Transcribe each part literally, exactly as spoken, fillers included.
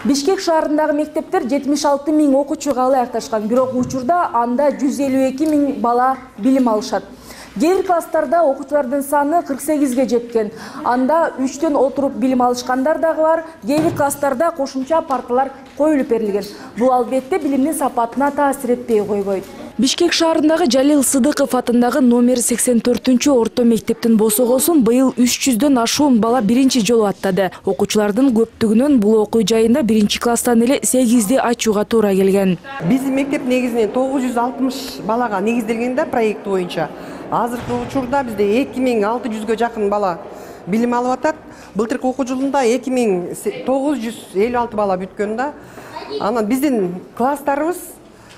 Бишкек шаарындагы мектептер жетимиш алты миң окуучуга ылайыкташкан, бирок учурда анда жүз элүү эки миң бала билим алышат. Кээ бир класстарда окуучулардын саны кырк сегизге жеткен. Анда үчтөн отуруп билим алышкандар дагы бар. Кээ бир класстарда кошумча парталар коюлуп берилген. Бул албетте билимдин сапатына таасир этпей койбойт. Бишкек шаарындагы Жалил Сыдыков атындагы номер сексен төртүнчү орто мектептин босогосун быйыл үч жүздөн ашуун бала биринчи жолу аттады. Окуучулардын көптүгүнөн бул окуу жайында биринчи класстан эле сегизди ачууга туура келген. Биздин мектеп негизинен тогуз жүз алтымыш балага негизделген да проект боюнча. Азыркы учурда бизде эки миң алты жүзгө жакын бала билим алып атат. Былтыркы окуу жылында эки миң тогуз жүз элүү алты бала бүткөн да. Анан биздин класстарыбыз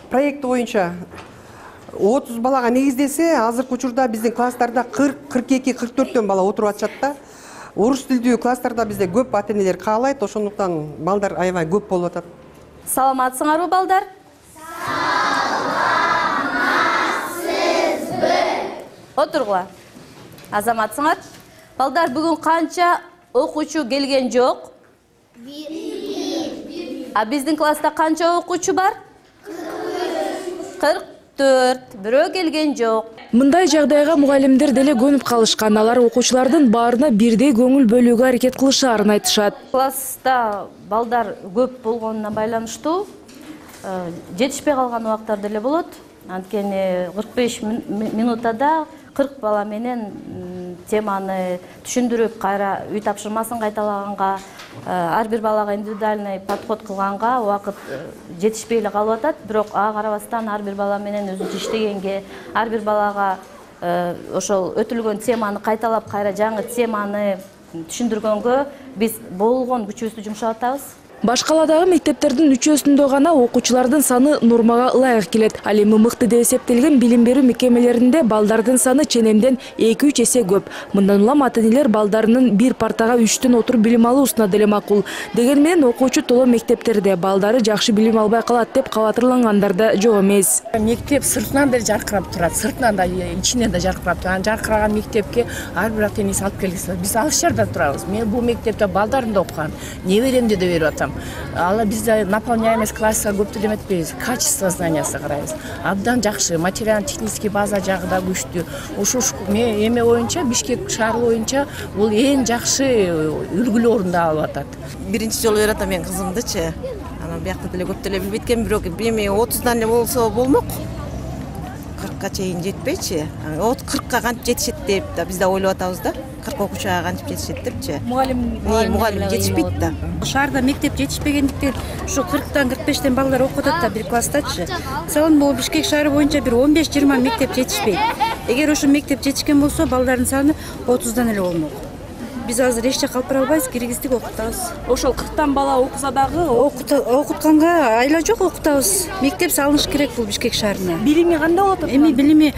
проект боюнча отуз балага негиздесе, азыркы учурда биздин класстарда кырк кырк эки кырк төрттөн бала отуруп атышат да. Орус тилдүү класстарда бизде көп ата-энелер каалайт, ошондуктан балдар аябай көп болуп атат. Саламатсыңарбы, балдар? Саламатсызбы? Отургула. Азаматсыңар? Балдар, бүгүн канча окуучу келген жок? бир. А биздин класста канча окуучу бар? кырк төрт. Бирөө келген жок. Мындай жагдайга мугалимдер деле көнүп калышкан. Алар окуучулардын баарына бирдей көңүл бөлүүгө аракет кылышаарын айтышат. Класста балдар көп болгонуна байланыштуу жетишпей калган убактар деле болот. Анткени кырк беш минутада кырк бала менен теманы түшүндүрүп, кайра үй тапшырмасын кайталаганга, ар бир балага индивидуальный подход кылганга убакыт жетишпей эле калып атат. Бирок ага карабастан ар бир бала менен өзүнчө иштегенге, ар бир балага ошол өтүлгөн теманы кайталап, кайра жаңы теманы түшүндүргөнгө биз болгон күчүбүздү жумшап атабыз. Башкаладагы мектептердин үчөөсүндө гана окуучулардын саны нормага ылайык келет. Ал эми мыкты деп эсептелген билим берүү мекемелеринде балдардын саны ченемден эки үч эсе көп. Мындан улам ата-энелер балдарынын бир партага үчтөн отуруп билим алуусуна деле макул. Деген менен окуучу толо мектептерде балдары жакшы билим албай калат деп кабатырлангандар да жок эмес. Мектеп сыртынан да жаркырап турат, сыртынан да ичинен да жаркырап турат. Жаркыраган мектепке ар бир ата-энеси алып келгиси. Биз алыс жерде турабыз. Мен бул мектепте балдарым да окуган, неберемди да берип атам. Ала биз наполняемость класса көп деле эметпейбиз, качество знаниясы карайбыз. Абдан жакшы, материально-технический база жагы да күчтүү. Ушул эме боюнча, Бишкек шаары боюнча бул эң жакшы үлгүлүү орунду алып атат. Биринчи жолу берип атам мен кызымдычы. Анан биякта деле көп деле билбейт экен, бирок эми отуздан эле болсо болмок. кыркка чейин жетпейчи. кыркка кантип жетишет деп да биз да ойлоп атабыз да. кырк окуучуга кантип жетишет депчи. Мугалим мугалим жетишпейт да. Шаарда мектеп жетишпегендиктен ушу кырктан кырк бештен балдар окуп атат да бир класстачы. Мисалы могу Бишкек шаары боюнча бир он беш жыйырма мектеп жетишпейт. Эгер ошо мектеп жетишкен болсо балдардын саны отуздан эле болмок. Биз азыр эч жакка алып бара албайбыз, киргиздик окутабыз. Ошол кырктан бала окуса дагы окутканга айла жок, окутабыз. Мектеп салыныш керек бул Бишкек шаарына. Билими кандай болот? Эми билими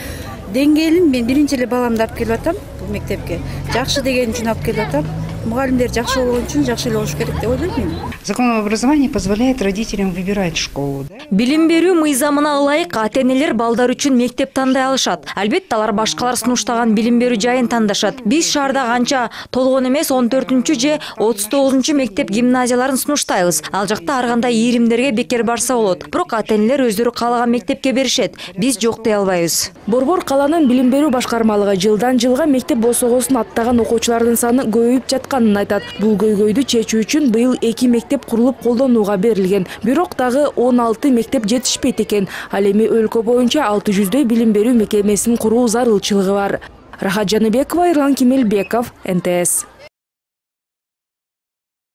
деңгээлин мен биринчи эле баламды алып келип атам бул мектепке. Жакшы деген үчүн алып келип атам. Мугалимдер жакшы болгон үчүн жакшы эле болуш керек деп ойлойм мен. Закон об образовании позволяет родителям выбирать школу. Билим берүү мыйзамына ылайык ата-энелер балдар үчүн мектеп тандай алышат. Албетте алар башкалар сунуштаган билим берүү жайын тандашат. Биз шаарда канча толгон эмес он төртүнчү же отуз тогузунчу мектеп гимназияларын сунуштайбыз. Ал жакта ар кандай ийримдерге бекер барса болот. Бирок ата-энелер өздөрү каалаган мектепке беришет. Биз жок дей албайбыз. Борбор каланын билим берүү башкармалыгы жылдан жылга мектеп босогосун аттаган окуучулардын саны көбөйүп жатканын айтат. Бул көйгөйдү чечүү үчүн быйыл эки мектеп курулуп колдонууга берилген. Бирок дагы он алты мектеп жетишпейт экен. Ал эми өлкө боюнча алты жүздөй билим берүү мекемесин куруу зарылчылыгы бар. Рахат Жаныбекова, Ирлан Кемелбеков, эн тэ эс.